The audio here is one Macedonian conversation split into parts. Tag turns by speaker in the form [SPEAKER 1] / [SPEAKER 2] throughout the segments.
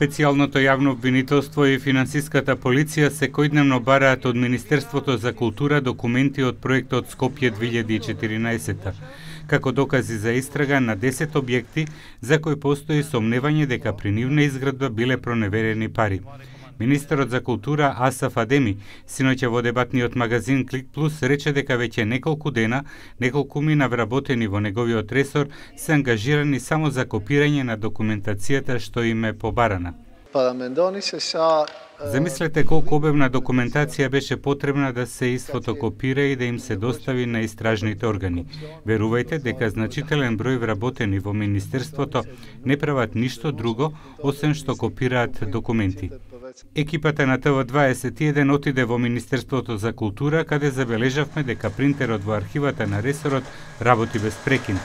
[SPEAKER 1] Специјалното јавно обвинителство и финансиската полиција секојдневно бараат од Министерството за култура документи од проектот Скопје 2014 како докази за истрага на 10 објекти за кои постои сомневање дека при нивна изградба биле проневерени пари. Министерот за култура Асаф Адеми синоќа во дебатниот магазин Клик Плюс рече дека веќе неколку дена неколкумина вработени во неговиот ресор се ангажирани само за копирање на документацијата што им е побарана. Замислете колку обемна документација беше потребна да се изфотокопира и да им се достави на истражните органи. Верувајте дека значителен број вработени во Министерството не прават ништо друго, освен што копираат документи. Екипата на ТВ21 отиде во Министерството за култура, каде забележавме дека принтерот во архивата на ресорот работи без прекин.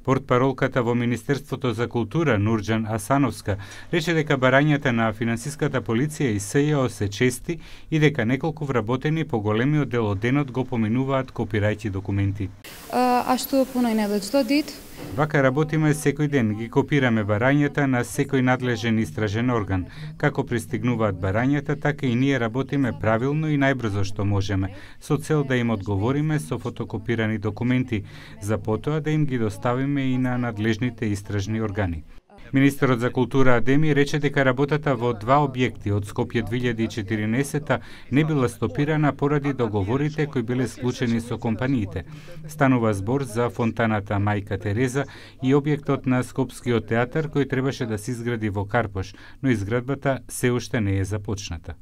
[SPEAKER 1] Портпаролката во Министерството за култура Нурџан Асановска рече дека барањата на финансиската полиција и СЈО се чести и дека неколку вработени по големиот дел од денот го поминуваат копирајќи документи.
[SPEAKER 2] А што понајнадеж додит?
[SPEAKER 1] Вака работиме секој ден, ги копираме барањата на секој надлежен истражен орган. Како пристигнуваат барањата, така и ние работиме правилно и најбрзо што можеме, со цел да им одговориме со фотокопирани документи, за потоа да им ги доставиме и на надлежните истражни органи. Министерот за култура Адеми рече дека работата во два објекти од Скопје 2014 не била стопирана поради договорите кои биле склучени со компаниите. Станува збор за фонтаната Мајка Тереза и објектот на Скопскиот театар кој требаше да се изгради во Карпош, но изградбата се уште не е започната.